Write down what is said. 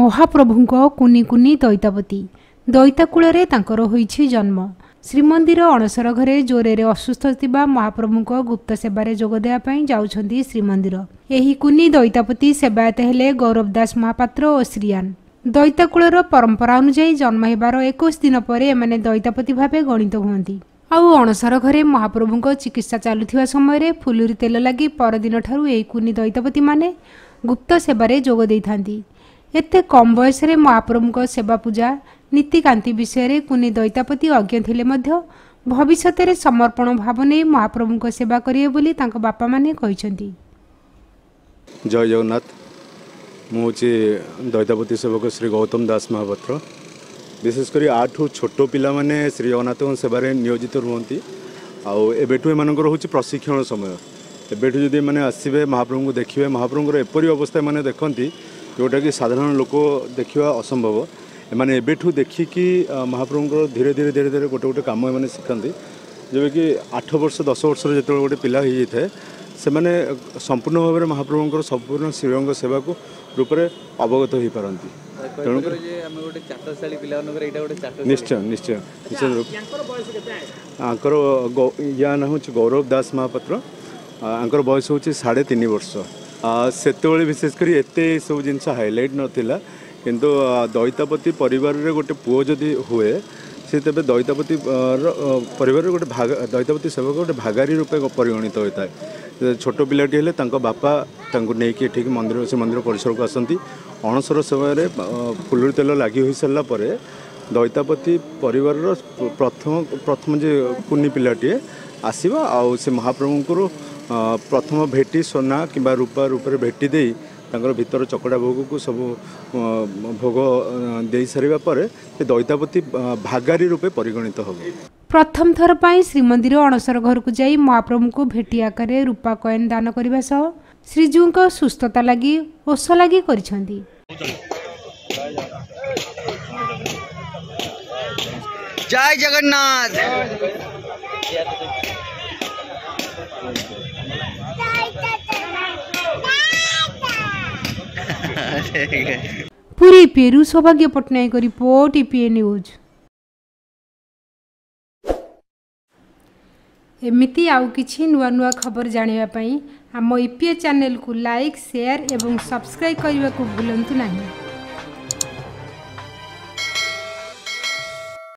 ମହାପ୍ରଭୁଙ୍କ କୁନି କୁନି ଦଇତାପତି। ଦଇତାକୂଳରେ ତାଙ୍କର ହୋଇଛି ଜନ୍ମ। ଶ୍ରୀମନ୍ଦିର ଅଣସର ଘରେ ଜ୍ୱରରେ ଅସୁସ୍ଥ ଥିବା ମହାପ୍ରଭୁଙ୍କ ଗୁପ୍ତ ସେବାରେ ଯୋଗ ଦେବା ପାଇଁ ଯାଉଛନ୍ତି ଶ୍ରୀମନ୍ଦିର। ଏହି କୁନି ଦଇତାପତି ସେବାୟତ ହେଲେ ଗୌରବ ଦାସ ମହାପାତ୍ର ଓ ଶ୍ରୀୟାନ। ଦଇତାକୂଳର ପରମ୍ପରା ଅନୁଯାୟୀ ଜନ୍ମ ହେବାର 21 ଦିନ ପରେ ଏମାନେ ଦଇତାପତି ଭାବେ ଗଣିତ ହୁଅନ୍ତି। ଆଉ ଅଣସର ଘରେ ମହାପ୍ରଭୁଙ୍କ ଚିକିତ୍ସା ଚାଲୁଥିବା ସମୟରେ ଫୁଲୁରି ତେଲ ଲାଗି ପରଦିନଠାରୁ ଏହି କୁନି ଦଇତାପତିମାନେ ଗୁପ୍ତ ସେବାରେ ଯୋଗ ଦେଇଥାନ୍ତି। ଏତେ କମ୍ ବୟସରେ ମହାପ୍ରଭୁଙ୍କ ସେବା ପୂଜା ନୀତିକାନ୍ତି ବିଷୟରେ କୁନି ଦଇତାପତି ଅଜ୍ଞ ଥିଲେ ମଧ୍ୟ ଭବିଷ୍ୟତରେ ସମର୍ପଣ ଭାବ ନେଇ ମହାପ୍ରଭୁଙ୍କ ସେବା କରିବେ ବୋଲି ତାଙ୍କ ବାପାମାନେ କହିଛନ୍ତି। ଜୟ ଜଗନ୍ନାଥ। ମୁଁ ହେଉଛି ଦଇତାପତି ସେବକ ଶ୍ରୀ ଗୌତମ ଦାସ ମହାପାତ୍ର। ବିଶେଷ କରି ଆଠୁ ଛୋଟ ପିଲାମାନେ ଶ୍ରୀ ଜଗନ୍ନାଥଙ୍କ ସେବାରେ ନିୟୋଜିତ ରୁହନ୍ତି। ଆଉ ଏବେଠୁ ଏମାନଙ୍କର ହେଉଛି ପ୍ରଶିକ୍ଷଣ ସମୟ। ଏବେଠୁ ଯଦି ଏମାନେ ଆସିବେ, ମହାପ୍ରଭୁଙ୍କୁ ଦେଖିବେ, ମହାପ୍ରଭୁଙ୍କର ଏପରି ଅବସ୍ଥା ଏମାନେ ଦେଖନ୍ତି ଯେଉଁଟାକି ସାଧାରଣ ଲୋକ ଦେଖିବା ଅସମ୍ଭବ। ଏମାନେ ଏବେଠୁ ଦେଖିକି ମହାପ୍ରଭୁଙ୍କର ଧୀରେ ଧୀରେ ଧୀରେ ଧୀରେ ଗୋଟେ ଗୋଟେ କାମ ଏମାନେ ଶିଖନ୍ତି। ଯେବେକି 8 ବର୍ଷ 10 ବର୍ଷର ଯେତେବେଳେ ଗୋଟେ ପିଲା ହେଇଯାଇଥାଏ, ସେମାନେ ସମ୍ପୂର୍ଣ୍ଣ ଭାବରେ ମହାପ୍ରଭୁଙ୍କର ସମ୍ପୂର୍ଣ୍ଣ ଶ୍ରୀଅଙ୍ଗ ସେବାକୁ ରୂପରେ ଅବଗତ ହୋଇପାରନ୍ତି। ତେଣୁକରି ନିଶ୍ଚୟ ନିଶ୍ଚୟ ନିଶ୍ଚୟ। ଆଙ୍କର ୟା ନାଁ ହେଉଛି ଗୌରବ ଦାସ ମହାପାତ୍ର। ଆଙ୍କର ବୟସ ହେଉଛି 3.5 ବର୍ଷ। ସେତେବେଳେ ବିଶେଷ କରି ଏତେ ସବୁ ଜିନିଷ ହାଇଲାଇଟ୍ ନଥିଲା, କିନ୍ତୁ ଦଇତାପତି ପରିବାରରେ ଗୋଟେ ପୁଅ ଯଦି ହୁଏ, ସେ ତେବେ ଦଇତାପତି ପରିବାରରେ ଗୋଟେ ଭାଗ, ଦଇତାପତି ସେବକ ଗୋଟେ ଭାଗାରୀ ରୂପେ ପରିଗଣିତ ହୋଇଥାଏ। ଛୋଟ ପିଲାଟି ହେଲେ ତାଙ୍କ ବାପା ତାଙ୍କୁ ନେଇକି ଏଠିକି ମନ୍ଦିର, ଶ୍ରୀମନ୍ଦିର ପରିସରକୁ ଆସନ୍ତି। ଅଣସର ସମୟରେ ଫୁଲୁରି ତେଲ ଲାଗି ହୋଇସାରିଲା ପରେ ଦଇତାପତି ପରିବାରର ପ୍ରଥମ ଯେ କୁନି ପିଲାଟିଏ ଆସିବ, ଆଉ ସେ ମହାପ୍ରଭୁଙ୍କର ପ୍ରଥମ ଭେଟି ସୁନା କିମ୍ବା ରୂପା ରୂପରେ ଭେଟି ଦେଇ ତାଙ୍କର ଭିତର ଚକଡ଼ା ଭୋଗକୁ ସବୁ ଭୋଗ ଦେଇସାରିବା ପରେ ସେ ଦଇତାପତି ଭାଗାରୀ ରୂପେ ପରିଗଣିତ ହେବ। ପ୍ରଥମ ଥର ପାଇଁ ଶ୍ରୀମନ୍ଦିର ଅଣସର ଘରକୁ ଯାଇ ମହାପ୍ରଭୁଙ୍କୁ ଭେଟି ଆକାରରେ ରୂପା କଏନ୍ ଦାନ କରିବା ସହ ଶ୍ରୀଜୀଉଙ୍କ ସୁସ୍ଥତା ଲାଗି ଓଷ ଲାଗି କରିଛନ୍ତି। ଜୟ ଜଗନ୍ନାଥ। ପୁରୀ ପେରୁ ସୌଭାଗ୍ୟ ପଟ୍ଟନାୟକ ରିପୋର୍ଟ, ଇପିଏ ନ୍ୟୁଜ୍। ଏମିତି ଆଉ କିଛି ନୂଆ ନୂଆ ଖବର ଜାଣିବା ପାଇଁ ଆମ ଇପିଏ ଚ୍ୟାନେଲକୁ ଲାଇକ୍, ସେୟାର ଏବଂ ସବସ୍କ୍ରାଇବ୍ କରିବାକୁ ଭୁଲନ୍ତୁ ନାହିଁ।